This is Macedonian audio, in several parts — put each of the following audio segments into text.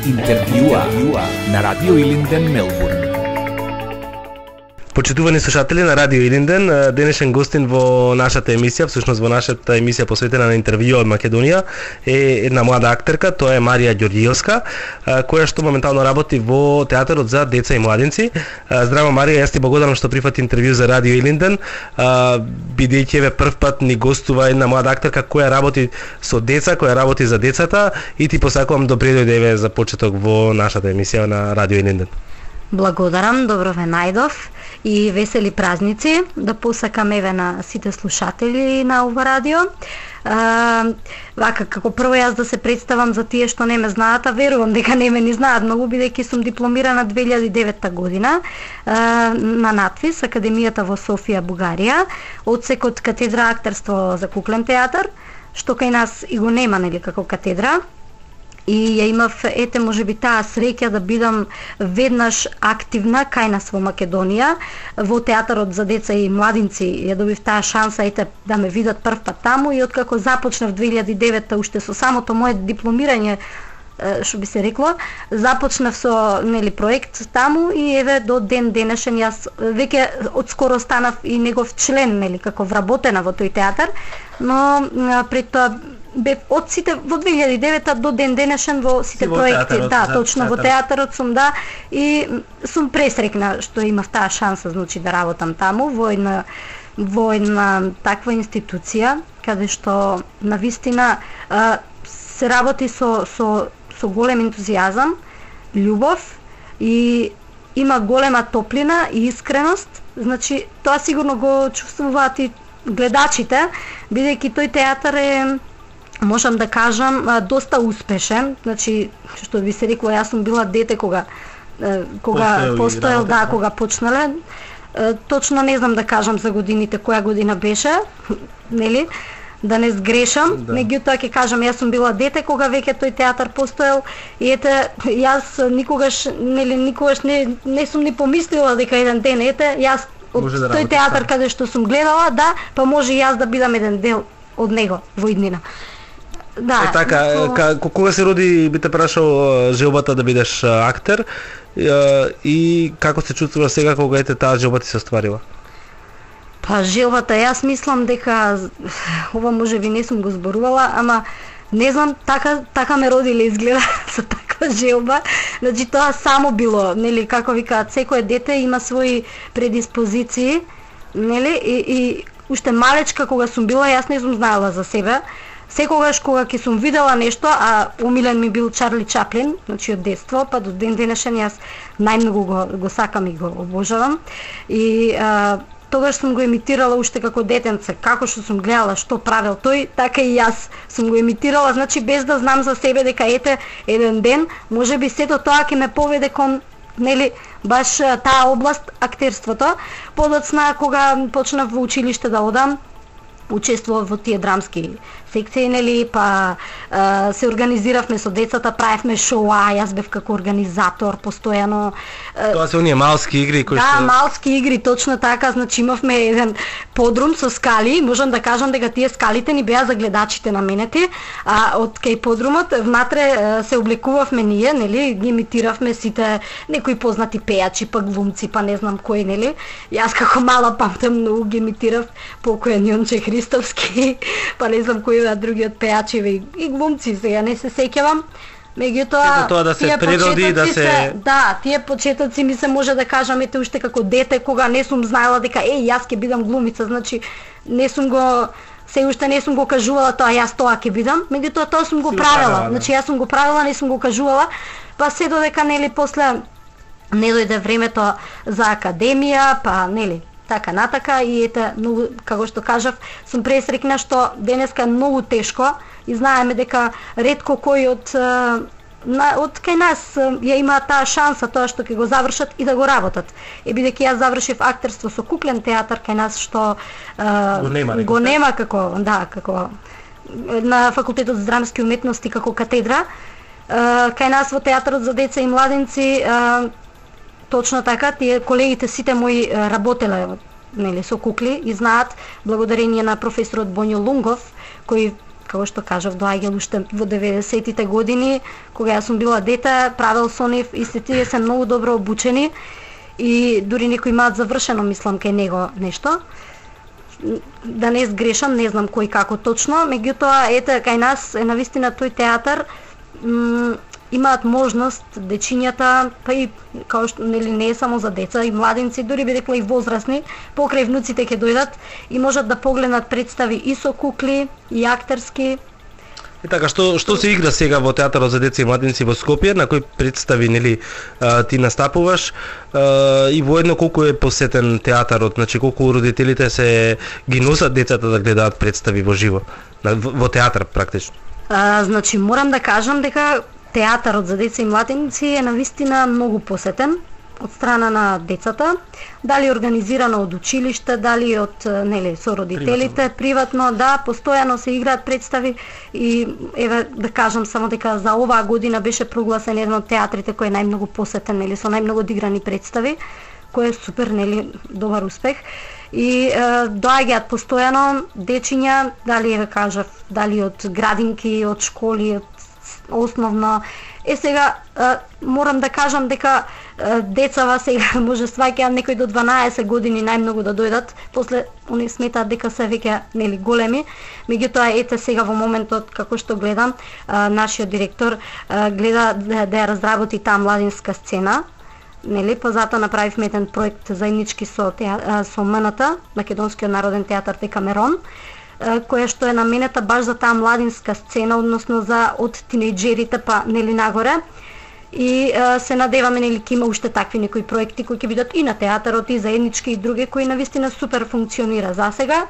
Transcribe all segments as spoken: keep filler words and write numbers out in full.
Интервјуа на Радио Илинден, Мелбурн. Почитувани слушатели на Радио Илинден, денешен гостин во нашата емисија, всушност во нашата емисија посветена на интервју од Македонија, е една млада актерка, тоа е Марија Ѓорѓиевска, која што моментално работи во театарот за деца и младинци. Здраво Марија, јас ти благодарам што прифати интервју за Радио Илинден, бидејќи еве прв пат ни гостува една млада актерка која работи со деца, која работи за децата, и ти посакувам добре дојдеве за почеток во нашата емисија на Радио Илинден. Благодарам, добро ве најдов и весели празници, да посакам еве на сите слушатели на ова радио. А, вака, како прво јас да се представам за тие што не ме знаат, а верувам дека не ме ни знаат многу, бидејќи сум дипломирана две илјади и девета година а, на НАТФИС, Академијата во Софија, Бугарија, одсекот катедра актерство за куклен театар, што кај нас и го нема, нели, како катедра. И ја имав, ете, можеби таа среќа да бидам веднаш активна кај нас во Македонија, во театарот за деца и младинци. Ја добив таа шанса, ете, да ме видат прв пат таму, и откако започнав две илјади и девета, уште со самото мое дипломирање, што би се рекло, започнав со, нели, проект таму, и еве до ден денешен јас веќе одскоро станав и негов член, нели, како вработена во тој театар, но пред тоа бе од сите во две илјади и девета до ден денешен во сите во проекти, театарот, да, за точно театарот. во театарот сум, да, и сум пресрекна што имав таа шанса, значи, да работам таму во една во една таква институција каде што навистина а, се работи со со со голем ентузијазам, љубов, и има голема топлина и искреност. Значи, тоа сигурно го чувствуваат и гледачите, бидејќи тој театар е, можам да кажам, доста успешен. Значи, што би се рекло, јас сум била дете кога кога постоел, да, кога почнале. Точно не знам да кажам за годините, која година беше, нели, да не сгрешам, да. Меѓутоа ќе кажам, јас сум била дете кога веќе тој театар постоел, и ете, јас никогаш, нели, никогаш не, не сум ни помислила дека еден ден, ете, јас од да тој театар каде што сум гледала, да, па може и јас да бидам еден дел од него во иднина. Да, е така, но... кога се роди, би те прашал желбата да бидеш актер, и како се чувствуваш сега кога ете таа желба ти се остварила? Па желбата, јас мислам дека ова можеби не сум го зборувала, ама не знам, така така ме родиле изгледа со таква желба. Значи тоа само било, нели, како викаат, секое дете има своји предиспозиции, нели, и, и уште малечка кога сум била, јас не сум знаела за себе. Секогаш кога ќе сум видела нешто, а умилен ми бил Чарли Чаплин, значи од детство, па до ден денешен јас најмногу го, го сакам и го обожавам. И а, тогаш сум го емитирала уште како детенце, како што сум гледала што правел тој, така и јас сум го емитирала, значи без да знам за себе дека ете еден ден можеби сето тоа ќе ме поведе кон, нели, баш таа област, актерството. Подоцна кога почнав во училиште да одам, учествував во тие драмски секции, нели, па а, се организиравме со децата, правевме шоуа, јас бев како организатор постојано. Тоа се оние малски игри кои да, што... Да, малски игри, точно така, значи имавме еден подрум со скали, можам да кажам дека тие скалите ни беа за гледачите наменети, а од кај подрумот внатре се облекувавме ние, нели, ги имитиравме сите некои познати пејачи, па глумци, па не знам кои, нели. Јас како мала памтам многу ги имитирав покојен Јонче Христовски, па не знам кои другиот пејачи и, и глумци, сега не се сеќавам. Меѓутоа, тоа да се природи, да се... се да, тие почетоци ми се може да кажам ете уште како дете кога не сум знаела дека е јас ќе бидам глумица, значи не сум го се уште не сум го кажувала тоа јас тоа ќе бидам, меѓутоа тоа сум го правела. Да. Значи јас сум го правела, не сум го кажувала, па се додека нели после не дојде времето за академија, па нели така натака, и ете, многу, како што кажав, сум пресрекна што денеска е многу тешко и знаеме дека ретко кој од на, од кај нас ја има таа шанса тоа што ќе го завршат и да го работат. Е бидејќи јас завршив актерство со куклен театар кај нас што а, го нема, го нема како, да, како на факултетот за драмски уметности како катедра. А, кај нас во театарот за деца и младинци а, точно така, тие колегите сите мои работеле, нели, со кукли и знаат, благодарение на професорот Боњо Лунгов, кој како што кажав, доаѓал уште во деветдесетите години, кога јас сум била дете, правел со нив и се тие се многу добро обучени и дури некои имаат завршено, мислам, кај него нешто. Да не сгрешам, не знам кој како точно, меѓутоа, ете, кај нас е навистина тој театар, имаат можност дечињата, па и као што нели не е само за деца, и младинци, дури би рекла и возрастни, покрај внуците ќе дојдат и можат да погледнат представи и со кукли, и актерски. И така, што што се игра сега во театарот за деца и младинци во Скопје, на кои представи нели ти настапуваш, и воедно колку е посетен театарот, значи колку родителите се ги носат децата да гледаат представи во живо, во театар практично. А, значи морам да кажам дека театарот за деца и младинци е навистина многу посетен од страна на децата, дали организирано од училиште, дали од нели со родителите, приватно, приватно да, постојано се играат представи и еве да кажам само дека за оваа година беше прогласен еден од театрите кој е најмногу посетен, нели со најмногу одиграни представи, кој е супер, нели добар успех. И е, доаѓаат постојано дечиња, дали еве кажав, дали од градинки, од школи, од основно. Е сега е, морам да кажам дека е, децава сега може сваќаат некои до дванаесет години најмногу да дојдат, после они сметаат дека се веќе нели големи. Меѓутоа ете сега во моментот како што гледам, е, нашиот директор е, гледа да, да ја разработи таа младинска сцена. Нели, па затоа направивме еден проект заеднички со теа, со М Н Т, Македонскиот народен театар Декамерон, која што е наменета баш за таа младинска сцена, односно за од тинејџерите па нели нагоре. И е, се надеваме нели ќе има уште такви некои проекти кои ќе бидат и на театарот и заеднички и други кои навистина супер функционира за сега.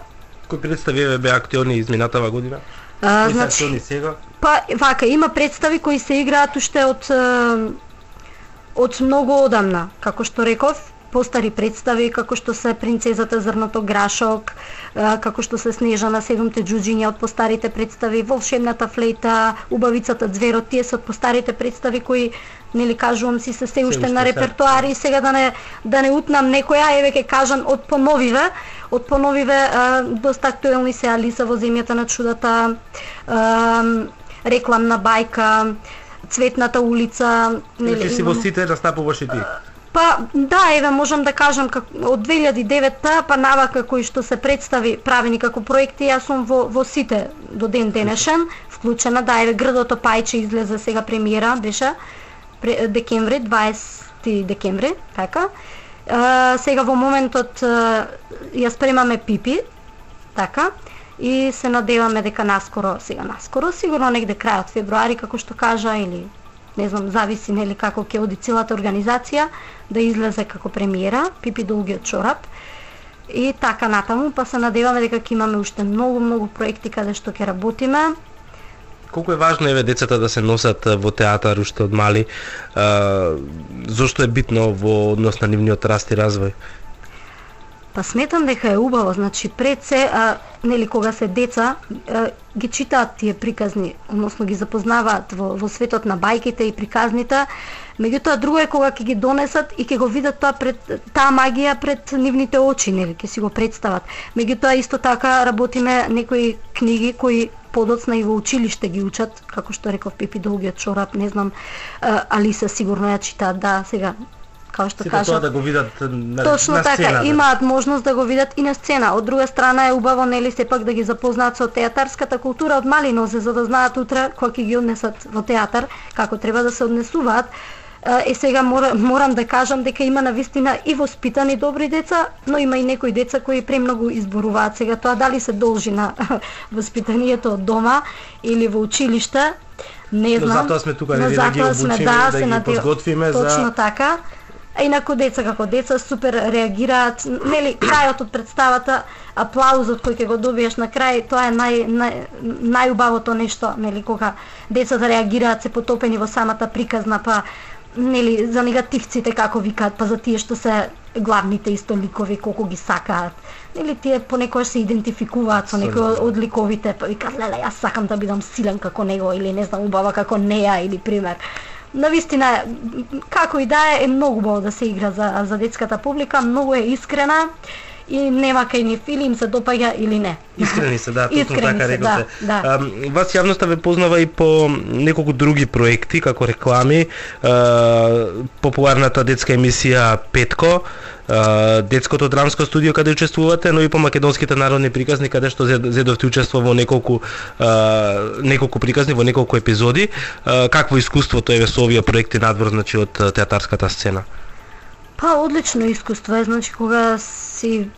Кои представи беа актуелни изминатава година? А, значи, актуелни сега? Па вака има представи кои се играат уште од од многу одамна, како што реков, постари представи, како што се Принцезата Зрното Грашок, како што се Снежана седумте џуџиња од постарите представи, Волшебната флейта, Убавицата Ѕверот, тие се од постарите представи кои, нели кажувам си, се се уште на репертоари. Сега да не да не утнам некоја, еве ќе кажам од поновиве, од поновиве доста актуелни се Алиса во земјата на чудата, Рекламна бајка, Цветната улица, нели си во сите настапуваш и ти? Па да, еве можам да кажам как, од две илјади и девета па навака кои што се представи правени како проекти, јас сум во во сите до ден денешен вклучена. Да, еве Грдото Пајче излезе сега премиера, беше декември, дваесети декември, така. Е, сега во моментот ја спремаме Пипи, така. И се надеваме дека наскоро, сега наскоро, сигурно негде крајот февруари, како што кажа, или не знам, зависи нели како ќе оди целата организација, да излезе како премиера Пипи Долгиот чорап. И така натаму, па се надеваме дека ќе имаме уште многу многу проекти каде што ќе работиме. Колку е важно еве децата да се носат во театар уште од мали? А, зошто е битно во однос на нивниот раст и развој? Па сметам дека е убаво, значи пред се, а, нели кога се деца, а, ги читаат тие приказни, односно ги запознаваат во, во светот на бајките и приказните, меѓутоа друго е кога ќе ги донесат и ќе го видат тоа пред таа магија пред нивните очи, нели ќе си го представат. Меѓутоа исто така работиме некои книги кои подоцна и во училиште ги учат, како што реков Пипи Долгиот чорап, не знам, а, Алиса сигурно ја читаат, да, сега како што кажа, тоа да го видат на, точно на сцена, така, имаат можност да го видат и на сцена. Од друга страна е убаво нели сепак да ги запознаат со театарската култура од мали нозе, за да знаат утре кога ќе ги однесат во театар како треба да се однесуваат. Е сега мора, морам да кажам дека има навистина и воспитани добри деца, но има и некои деца кои премногу изборуваат. Сега тоа дали се должи на воспитанието од дома или во училиште, не знам. Но затоа сме тука да ги обучиме, да, да ги подготвиме за... Точно така. А инаку деца како деца супер реагираат, нели крајот од представата, аплаузот кој ќе го добиеш на крај, тоа е нај, нај, најубавото нешто, нели кога децата реагираат, се потопени во самата приказна, па нели за негативците како викаат, па за тие што се главните исто ликови колку ги сакаат. Нели тие понекогаш се идентификуваат со некои од ликовите, па викаат леле јас сакам да бидам силен како него или не знам убава како неа или пример. Навистина, како и да е, е многу убаво да се игра за, за детската публика, многу е искрена и нема кај нив или им се допаѓа или не. Искрени се, да, точно така рековте. Да, да. Вас јавноста ве познава и по неколку други проекти, како реклами, популарната детска емисија Петко, детското драмско студио каде учествувате, но и по македонските народни приказни каде што зедовте учество во неколку неколку приказни, во неколку епизоди. Какво искуството е со овие проекти надвор, значи, од театарската сцена? Па одлично искуство е, значи кога си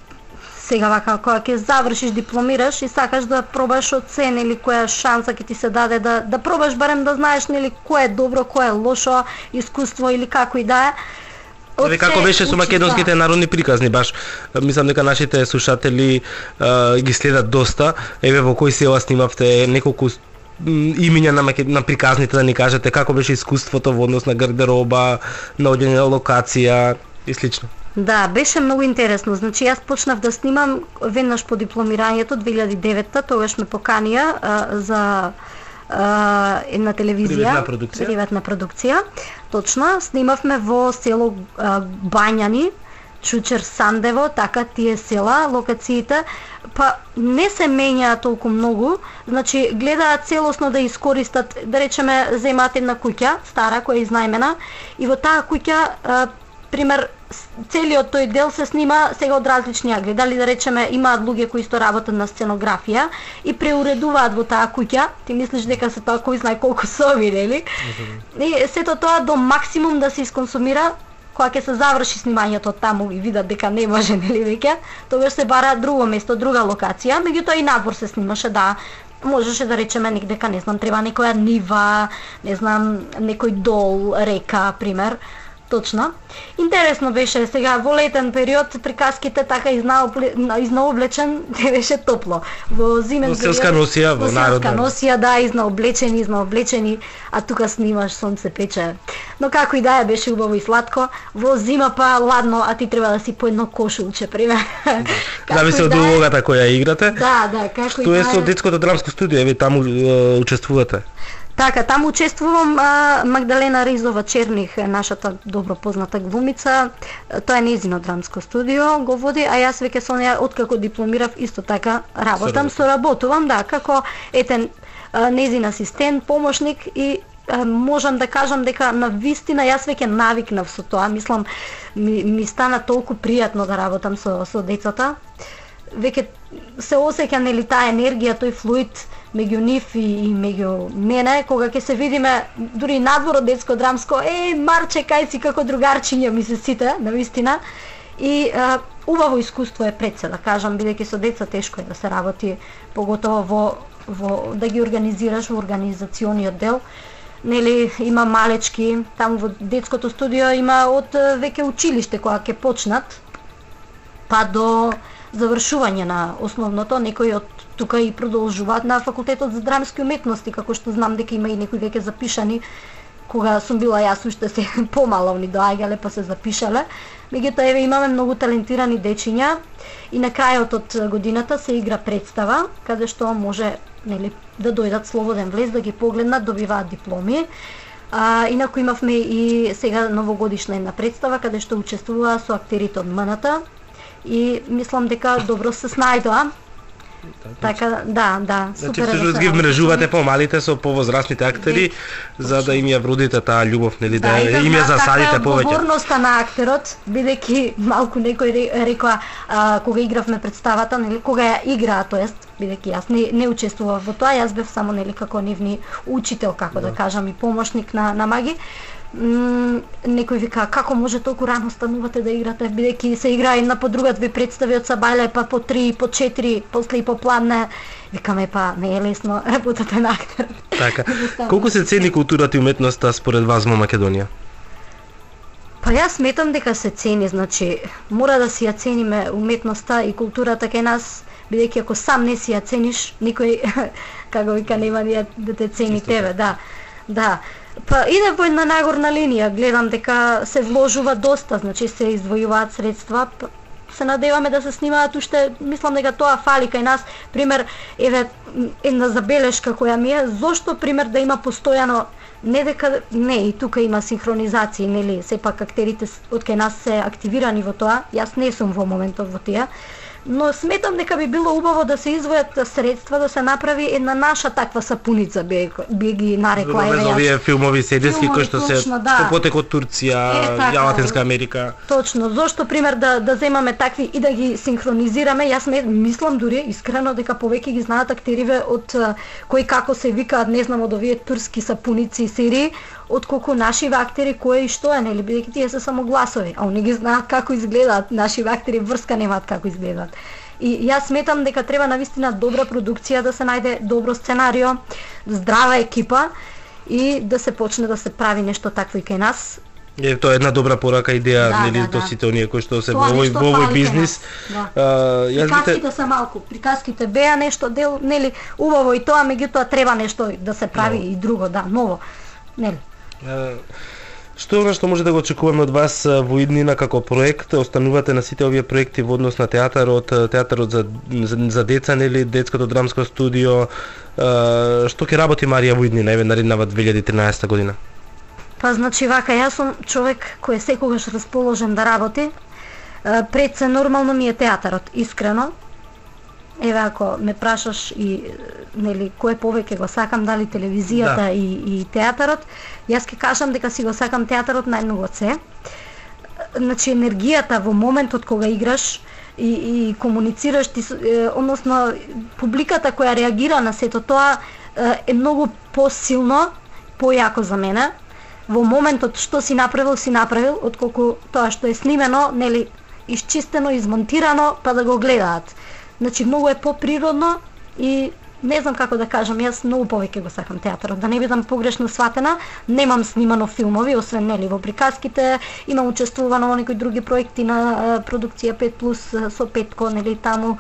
сега вака, кога ќе завршиш, дипломираш и сакаш да пробаш од се, нели, која шанса ќе ти се даде да да пробаш барем да знаеш, нели, кое е добро, кое е лошо искуство или како и да е. Еве како беше со македонските народни приказни, баш мислам дека нашите слушатели а, ги следат доста. Еве во кои села снимавте, неколку имиња на, на приказните, да ни кажете како беше искуството во однос на гардероба, наоѓање на локација и слично. Да, беше многу интересно. Значи јас почнав да снимам веднаш по дипломирањето две илјади и девета, тогаш ме поканија а, за а, една телевизија, приватна продукција. Приватна продукција. Точно, снимавме во село а, Бањани, Чучер, Сандево, така тие села, локациите, па не се менјаа толку многу, значи гледаат целосно да искористат, да речеме, земаат една куќа, стара, која е изнајмена, и во таа куќа, а, пример, целиот тој дел се снима сега од различни англи. Дали да речеме имаат луѓе кои што работат на сценографија и преуредуваат во таа куќа. Ти мислиш дека се тоа кој знае колку соби, нели? И сето тоа до максимум да се исконсумира. Кога ќе се заврши снимањето таму и видат дека не може, нели, веќе, тогаш се бара друго место, друга локација. Меѓутоа и надвор се снимаше, да. Можеше да речеме дека, не знам, треба некоја нива, не знам, некој дол, река, пример. Точно. Интересно беше сега во летен период приказките така изнаоблечен, не беше топло. Во зимен период. Во селска носија, во народна. Селска носија, да, изнаоблечени, изнаоблечени, а тука снимаш, сонце пече. Но како и да е, беше убаво и сладко. Во зима па ладно, а ти треба да си по едно кошулче, пример. Зависи од улогата која играте. Да, да, како и Тоа да е со детското драмско студио, еве таму учествувате. Така, таму учествувам а, Магдалена Ризова Черних, нашата добро позната глумица. Тоа е нејзино драмско студио, го води, а јас веќе со неја откако дипломирав исто така работам, соработувам, да, како етен нејзин асистент, помошник и а, можам да кажам дека на вистина јас веќе навикнав со тоа. Мислам, ми, ми стана толку пријатно да работам со, со децата. Веќе се осеќа, нели, таа енергија, тој флуид меѓу нив и, и меѓу мене, кога ќе се видиме дури надвор од детско драмско, е, Марче, кај си, како другарчиња ми се сите, навистина. И а, убаво искуство е пред се, да кажам, бидејќи со деца тешко е да се работи, поготово во, во да ги организираш во организациониот дел. Нели, има малечки, таму во детското студио има од веќе училиште кога ќе почнат, па до завршување на основното, некои од тука и продолжуваат на факултетот за драмски уметности, како што знам дека има и некои веќе запишани. Кога сум била јас уште се помала, они доаѓале па се запишале. Меѓутоа, еве, имаме многу талентирани дечиња и на крајот од годината се игра представа каде што може, нели, да дојдат слободен влез, да ги погледнат, добиваат дипломи. А, инаку имавме и сега новогодишна една представа каде што учествуваа со актерите од МНТ и мислам дека добро се снајдоа. Така, да, да, супер. Значи, всушност ги вмрежувате помалите со повозрастните актери, за да им ја вродите таа љубов, нели, да, да им ја засадите повеќе. Одговорноста на актерот, бидејќи малку некој рекоа а, кога игравме представата, нели, кога ја играа, тоест, бидејќи јас не, не учествував во тоа, јас бев само, нели, како нивни учител, како да, да кажам, и помошник на, на маги. М, некој вика, како може толку рано станувате да играте, бидејќи се игра една по друга две представи од сабајле, па по три, по четири, после и по пладне. Викаме, па не е лесно работата на актер. Така. Колку се цени културата и уметноста според вас во Македонија? Па јас сметам дека се цени, значи мора да си ја цениме уметноста и културата кај нас, бидејќи ако сам не си ја цениш, никој како вика нема да те цени тебе, да. Да. Па иде во една нагорна линија, гледам дека се вложува доста, значи се издвојуваат средства, се надеваме да се снимаат уште, мислам дека тоа фали кај нас. Пример, еве една забелешка која ми е, зошто пример да има постојано не дека не и тука има синхронизација, нели, сепак актерите од кај нас се активирани во тоа. Јас не сум во моментот во тие, но сметам дека би било убаво да се издвојат средства да се направи една наша таква сапуница, би, би ги нарекла. Без овие филмови седески кои што се да. што потек од Турција, е, така, Латинска Америка. Точно, зошто пример да да земаме такви и да ги синхронизираме. Јас не мислам дури искрено дека повеќе ги знаат актериве од кои како се викаат, не знам, од овие турски сапуници и серии, отколку нашиве актери кои и што е, нели, бидејќи тие се само гласови, а они ги знаат како изгледаат, нашиве актери врска немаат како изгледаат. И јас сметам дека треба навистина добра продукција, да се најде добро сценарио, здрава екипа и да се почне да се прави нешто такво и кај нас. Е, тоа е една добра порака, идеја, да, нели, да, до да. сите оние кои што се во овој во овој бизнис. Да. А, јас приказките бите... се малку, приказките беа нешто дел, нели, убаво и тоа, меѓутоа треба нешто да се прави no. и друго, да, ново. Нели. А, што е она што може да го очекуваме од вас во иднина како проект? Останувате на сите овие проекти во однос на театарот, театарот за, за, за деца, нели, детското драмско студио. А, што ќе работи Марија во иднина, еве нареднава две илјади и тринаесетта година? Па значи вака, јас сум човек кој е секогаш расположен да работи. Пред се нормално ми е театарот, искрено. Еве ако ме прашаш и нели кој повеќе го сакам, дали телевизијата да. и и театарот, јас ќе кажам дека си го сакам театарот најмногу од се. Значи енергијата во моментот кога играш и и комуницираш ти, односно публиката која реагира на сето тоа е многу посилно, појако за мене. Во моментот што си направил, си направил, отколку тоа што е снимено, нели, исчистено, измонтирано, па да го гледаат. Значи многу е поприродно и не знам како да кажам, јас многу повеќе го сакам театарот. Да не бидам погрешно сватена, немам снимано филмови, освен нели во приказките, имам учествувано во некои други проекти на продукција пет плюс со Петко, нели таму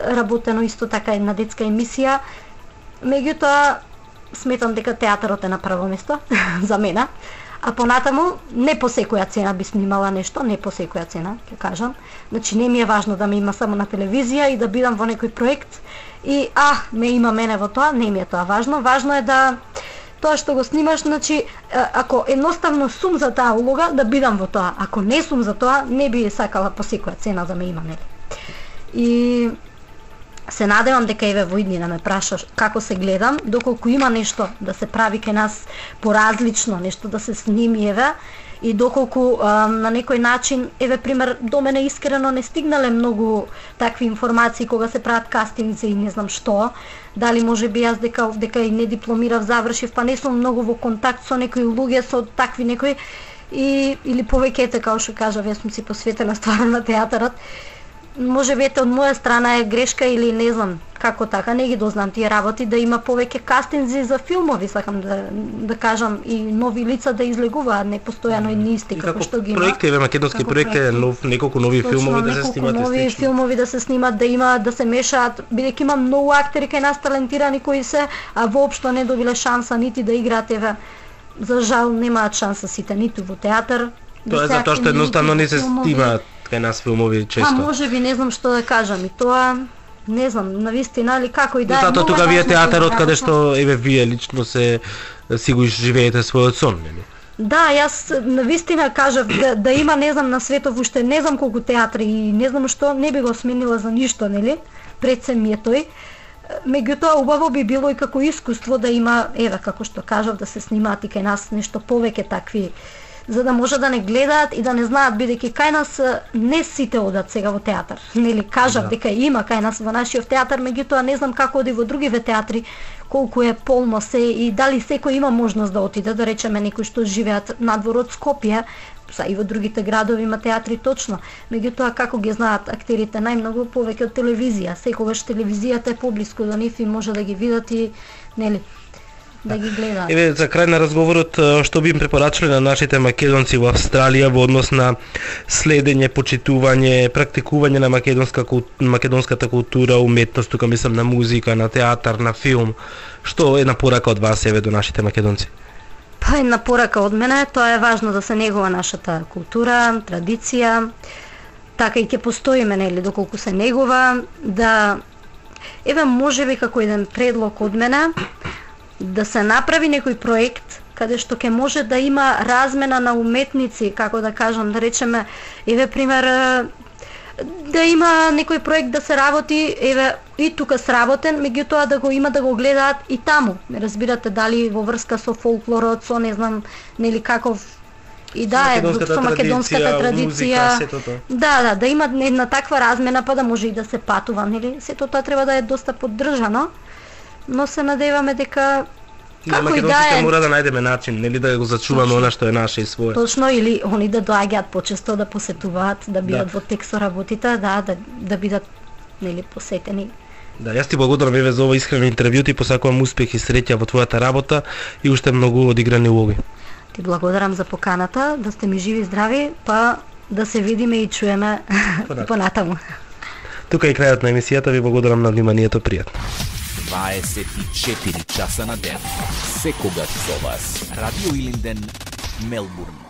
работено исто така една детска емисија. Меѓутоа сметам дека театарот е на прво место за мене. А понатаму, не по секоја цена би снимала нешто, не по секоја цена, ќе кажам. Значи не ми е важно да ме има само на телевизија и да бидам во некој проект и а, ме има мене во тоа, не ми е тоа важно. Важно е да тоа што го снимаш, значи ако едноставно сум за таа улога, да бидам во тоа. Ако не сум за тоа, не би сакала по секоја цена да ме има, нели. И се надевам дека еве во иднина ме прашаш како се гледам, доколку има нешто да се прави кај нас поразлично, нешто да се сними еве, и доколку а, на некој начин, еве пример, до мене искрено не стигнале многу такви информации кога се прават кастинзи и не знам што, дали може би јас дека дека и не дипломирав, завршив, па не сум многу во контакт со некои луѓе, со такви некои, и или повеќе како што кажав, јас сум си посветена стварно на театарот. Може би ете од моја страна е грешка или не знам како така, не ги дознам тие работи, да има повеќе кастинзи за филмови, сакам да да кажам, и нови лица да излегуваат, не постојано едни исти како што ги има. Проекти, еве македонски проекти, нов неколку нови Точно, филмови да се снимат, нови естествено. филмови да се снимат, да има да се мешаат, бидејќи има многу актери кај нас талентирани кои се, а воопшто не добиле шанса нити да играат, еве. За жал немаат шанса сите ниту во театар. Тоа е затоа што едноставно не се снимаат кај нас филмови често. А може би не знам што да кажам, и тоа не знам, навистина или како и да е. Затоа тука вие театарот каде што еве вие лично се си го живеете својот сон, нели? Да, јас навистина кажав да, да има, не знам, на светов уште не знам колку театри и не знам што, не би го сменила за ништо, нели? Пред се ми е тој. Меѓутоа убаво би било и како искуство да има, еве како што кажав, да се снимаат и кај нас нешто повеќе такви, за да може да не гледаат и да не знаат, бидејќи кај нас не сите одат сега во театар. Нели кажав да. дека има кај нас во нашиот театар, меѓутоа не знам како оди во другиве театри, колку е полно се и дали секој има можност да отиде, да речеме некои што живеат надвор од Скопје, са и во другите градови има театри точно. Меѓутоа како ги знаат актерите најмногу повеќе од телевизија. Секогаш телевизијата е поблиску до нив и може да ги видат и нели да ги гледаат. Еве за крај на разговорот, што би им препорачале на нашите македонци во Австралија во однос на следење, почитување, практикување на македонска македонската култура, уметност, тука мислам на музика, на театар, на филм. Што е на порака од вас еве до нашите македонци? Па една порака од мене, тоа е важно да се негува нашата култура, традиција, така и ќе постоиме, нели, доколку се негува, да еве можеби како еден предлог од мене, да се направи некој проект каде што ќе може да има размена на уметници, како да кажам, да речеме, еве пример, да има некој проект да се работи, еве и тука сработен, меѓутоа да го има да го гледаат и таму. Разбирате, дали во врска со фолклорот, со не знам, нели каков и да е со македонската традиција, музика, да, да, да има една таква размена, па да може и да се патува, нели? Сето тоа треба да е доста поддржано, но се надеваме дека како и да е, мора да најдеме начин, нели, да го зачуваме она што е наше и свое. Точно, или они да доаѓаат почесто да посетуваат, да бидат да. во тек со работите, да, да, да бидат, нели, посетени. Да, јас ти благодарам еве за ова искрено интервју, ти посакувам успех и среќа во твојата работа и уште многу одиграни улоги. Ти благодарам за поканата, да сте ми живи и здрави, па да се видиме и чуеме понатаму. Тука е крајот на емисијата, ви благодарам на вниманието, пријатно. дваесет и четири часа на ден. Секогаш со вас. Радио Илинден, Мелбурн.